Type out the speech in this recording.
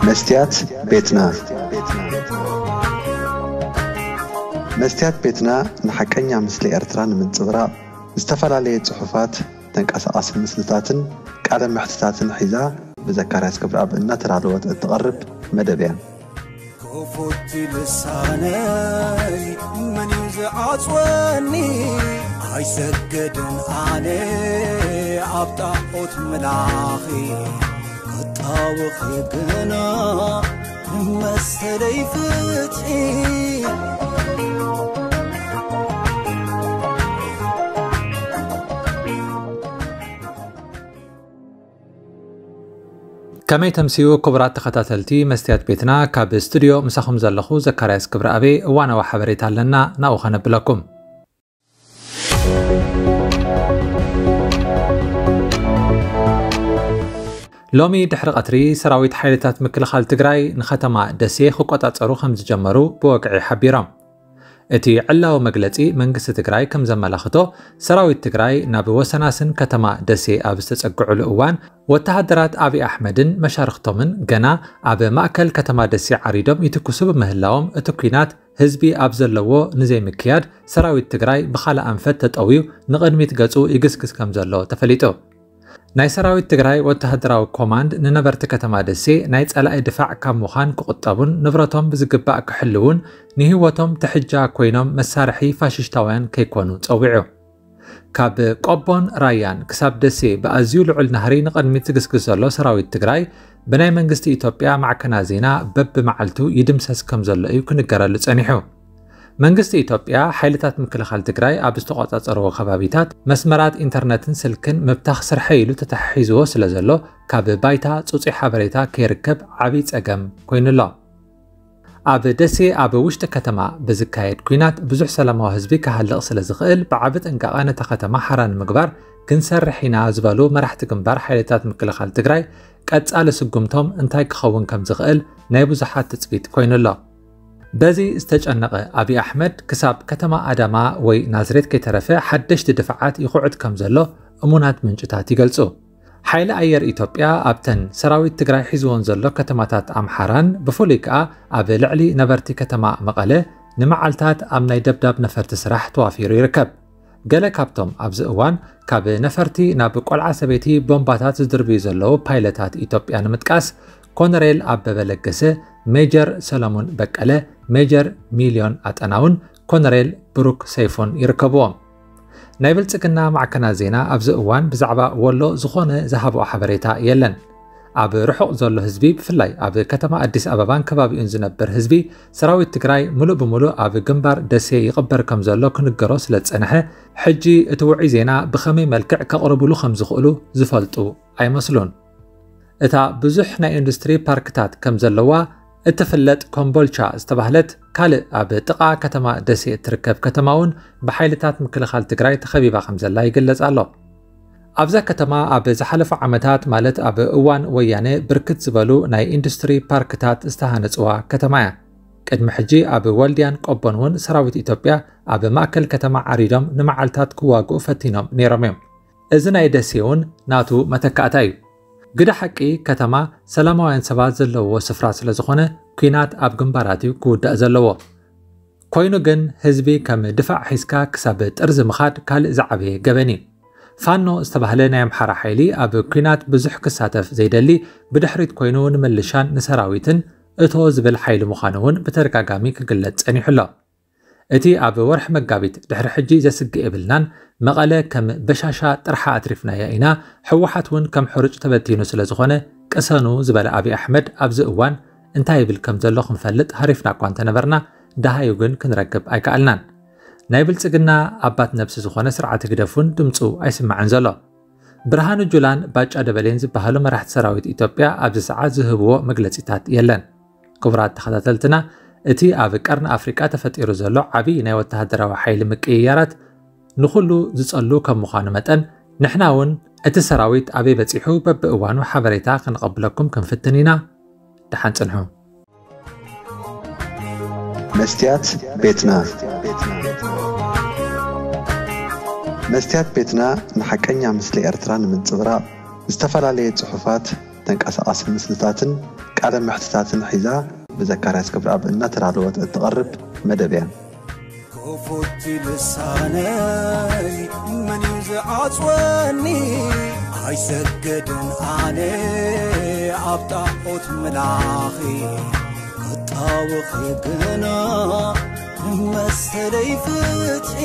መስትያት ቤትና። መስትያት ቤትና ንሓቀኛ ምስሊ ኤርትራ ንምንጽብራቕ ዝተፈላለየ ጽሑፋት፣ ተንቀሳቓሲ ምስልታትን ቃለ መሕትታትን ሒዛ ብዘካርያስ ክብረኣብ እናተዳለወት እትቐርብ መደብ እያ። ክፉት ልሳነይ መን እዩ ዝዓጽወኒ? ኣይሰግድን ኣነ ኣብ ጣዖት ምላኺ፣ ክጣወኺ ግና መሰለይ ፍትሒ። ከመይ ተምስዩ ክቡራት ተኸታተልቲ መስትያት ቤትና፣ ካብ ስቱድዮ ምሳኹም ዘለኹ ዘካርያስ ክብረኣቤ። እዋናዊ ሓበሬታ ኣለና፣ ናብኡ ኸነብለኩም። ሎሚ ድሕሪ ቀትሪ ሰራዊት ሓይልታት ምክልኻል ትግራይ ንኸተማ ደሴ ክቆጻጸሩ ከም ዝጀመሩ ብወግዒ ሓቢሮም። እቲ ዕላዊ መግለጺ መንግስቲ ትግራይ ከም ዘመላኽቶ፣ ሰራዊት ትግራይ ናብ ወሰናስን ከተማ ደሴ ኣብ ዝተጸግዕሉ እዋን፣ ወተሃደራት ኣብይ ኣሕመድን መሻርኽቶምን ገና ኣብ ማእከል ከተማ ደሴ ዓሪዶም ይትኩሱ ብምህላዎም፣ እቲ ኲናት ህዝቢ ኣብ ዘለዎ ንዘይምክያድ፣ ሰራዊት ትግራይ ብኻልእ ኣንፈት ተጠውዩ ንቕድሚት ገጹ ይግስግስ ከም ዘሎ ተፈሊጡ። ናይ ሰራዊት ትግራይ ወተሃደራዊ ኮማንድ ንነበርቲ ከተማ ደሴ ናይ ጸላኢ ድፋዕ ካብ ምዃን ክቑጠቡን ንብረቶም ብዝግባእ ክሕልዉን ንህይወቶም ትሕጃ ኮይኖም መሳርሒ ፋሽሽታውያን ከይኮኑ ጸዊዑ። ካብ ቆቦን ራያን ክሳብ ደሴ ብኣዝዩ ልዑል ናህሪ ንቕድሚት ዝግስግስ ዘሎ ሰራዊት ትግራይ፣ ብናይ መንግስቲ ኢትዮጵያ ማዕከናት ዜና በብመዓልቱ ይድምሰስ ከም ዘሎ እዩ ክንገረሉ ጸኒሑ። መንግስቲ ኢትዮጵያ፣ ሓይልታት ምክልኻል ትግራይ ኣብ ዝተቖጻጸርዎ ከባቢታት መስመራት ኢንተርነትን ስልክን ምብታኽ ስርሐይ ኢሉ ተተሓሒዝዎ ስለ ዘሎ፣ ካብ ባይታ ጽጹይ ሓበሬታ ከይርከብ ዓብዪ ጸገም ኮይኑ ኣሎ። ኣብ ደሴ ኣብ ውሽጢ ከተማ ብዝካየድ ኲናት ብዙሕ ሰላማዊ ህዝቢ ክሃልቕ ስለ ዝኽእል፣ ብዓቢ ጥንቃቐ ነታ ከተማ ሓራ ንምግባር ክንሰርሕ ኢና ዝበሉ መራሕቲ ግንባር ሓይልታት ምክልኻል ትግራይ፣ ቀጻሊ ስጉምቶም እንታይ ክኸውን ከም ዝኽእል ናይ ብዙሓት ትጽቢት ኮይኑ ኣሎ። በዚ ዝተጨነቐ ኣብይ ኣሕመድ፣ ክሳብ ከተማ ኣዳማ ወይ ናዝሬት ከይተረፈ ሓደሽቲ ድፋዓት ይኹዕት ከም ዘሎ እሙናት ምንጭታት ይገልጹ። ሓይሊ ኣየር ኢትዮጵያ ኣብተን ሰራዊት ትግራይ ሒዝወን ዘሎ ከተማታት ኣምሓራን ብፍሉይ ከኣ ኣብ ልዕሊ ነበርቲ ከተማ መቐለ ንመዓልታት ኣብ ናይ ደብዳብ ነፈርቲ ስራሕ ተዋፊሩ ይርከብ። ገለ ካብቶም ኣብዚ እዋን ካብ ነፈርቲ ናብ ቆልዓ ሰበይቲ ቦምባታት ዝድርብዩ ዘለዉ ፓይለታት ኢትዮጵያ ንምጥቃስ፣ ኮነሬል ኣበበ ለገሰ፣ ሜጀር ሰለሙን በቀለ፣ ሜጀር ሚልዮን ኣጠናውን ኮነሬል ብሩክ ሰይፉን ይርከብዎም። ናይ ብልጽግና ማዕከናት ዜና ኣብዚ እዋን ብዛዕባ ወሎ ዝኾነ ዝሃብኦ ሓበሬታ የለን። ኣብ ርሑቕ ዘሎ ህዝቢ፣ ብፍላይ ኣብ ከተማ ኣዲስ ኣበባን ከባቢኡን ዝነብር ህዝቢ፣ ሰራዊት ትግራይ ምሉእ ብምሉእ ኣብ ግንባር ደሴ ይቕበር ከም ዘሎ ክንገሮ ስለ ዝጸንሐ፣ ሕጂ እቲ ውዑይ ዜና ብኸመይ መልክዕ ከቕርብሉ ከም ዝኽእሉ ዝፈልጡ ኣይመስሉን። እታ ብዙሕ ናይ ኢንዱስትሪ ፓርክታት ከም ዘለዋ እትፍለጥ ኮምቦልቻ ዝተባህለት ካልእ ኣብ ጥቓ ከተማ ደሴ እትርከብ ከተማ እውን ብሓይልታት ምክልኻል ትግራይ ተኸቢባ ከም ዘላ ይግለጽ ኣሎ። ኣብዛ ከተማ ኣብ ዝሓለፉ ዓመታት፣ ማለት ኣብ እዋን ወያነ፣ ብርክት ዝበሉ ናይ ኢንዱስትሪ ፓርክታት ዝተሃነጽዋ ከተማ እያ። ቅድሚ ሕጂ ኣብ ወልድያን ቆቦን እውን ሰራዊት ኢትዮጵያ ኣብ ማእከል ከተማ ዓሪዶም ንመዓልታት ክዋግኡ ፈቲኖም ነይሮም እዮም። እዚ ናይ ደሴ እውን ናቱ መተካእታ እዩ። ግደ ሓቂ፣ ከተማ ሰላማውያን ሰባት ዘለውዎ ስፍራ ስለ ዝኾነ፣ ኲናት ኣብ ግንባራት እዩ ክውዳእ ዘለዎ። ኮይኑ ግን፣ ህዝቢ ከም ድፋዕ ሒዝካ ክሳብ ጥርዚ ምኻድ ካልእ ዝዓበየ ገበን እዩ። ፋኖ ዝተባህለ ናይ ኣምሓራ ሓይሊ ኣብ ኲናት ብዙሕ ክሳተፍ ዘይደሊ፣ ብድሕሪት ኮይኑ ንምልሻን ንሰራዊትን እቶ ዝብል ሓይሊ ምዃኑ እውን ብተደጋጋሚ ክግለጽ ጸኒሑ ኣሎ። እቲ ኣብ ወርሒ መጋቢት ድሕሪ ሕጂ ዘስግእ የብልናን፣ መቐለ ከም በሻሻ ጥርሓ ኣትሪፍናያ ኢና፣ ህወሓት እውን ከም ሕሩጭ ተበቲኑ ስለ ዝኾነ ቅሰኑ ዝበለ ኣብይ ኣሕመድ ኣብዚ እዋን እንታይ ይብል ከም ዘሎ ክንፈልጥ ሃሪፍና እኳ እንተነበርና፣ ደሃዩ ግን ክንረክብ ኣይከኣልናን። ናይ ብልጽግና ኣባት ነብሲ ዝኾነ ስርዓት ህግደፍ እውን ድምፁ ኣይስማዕን ዘሎ። ብርሃኑ ጁላን ባጫ ደበሌን ዝበሃሉ መራሕቲ ሰራዊት ኢትዮጵያ ኣብዚ ሰዓት ዝህብዎ መግለጺታት የለን። ክቡራት ተኸታተልትና፣ እቲ ኣብ ቀርኒ ኣፍሪቃ ተፈጢሩ ዘሎ ዓቢ ናይ ወተሃደራዊ ሓይሊ ምቅይያራት ንኹሉ ዝጸሉ ከም ምዃኑ መጠን፣ ንሕና እውን እቲ ሰራዊት ኣበይ በጺሑ በብእዋኑ ሓበሬታ ክንቐብለኩም ክንፍትን ኢና። ደሓን ጽንሑ። መስትያት ቤትና። መስትያት ቤትና ንሓቀኛ ምስሊ ኤርትራ ንምንጽብራቕ ዝተፈላለየ ጽሑፋት፣ ተንቀሳቓሲ ምስልታትን ቃለ መሕትታትን ሒዛ ብዘካርያስ ክብረኣብ እናተዳለወት እትቐርብ መደብ እያ። ክፉት ልሳነይ መን እዩ ዝዓጽወኒ? ኣይሰገድን ኣነ ኣብ ጣዖት ምላኺ ክጣወኺ ግና መሰለይ ፍትሒ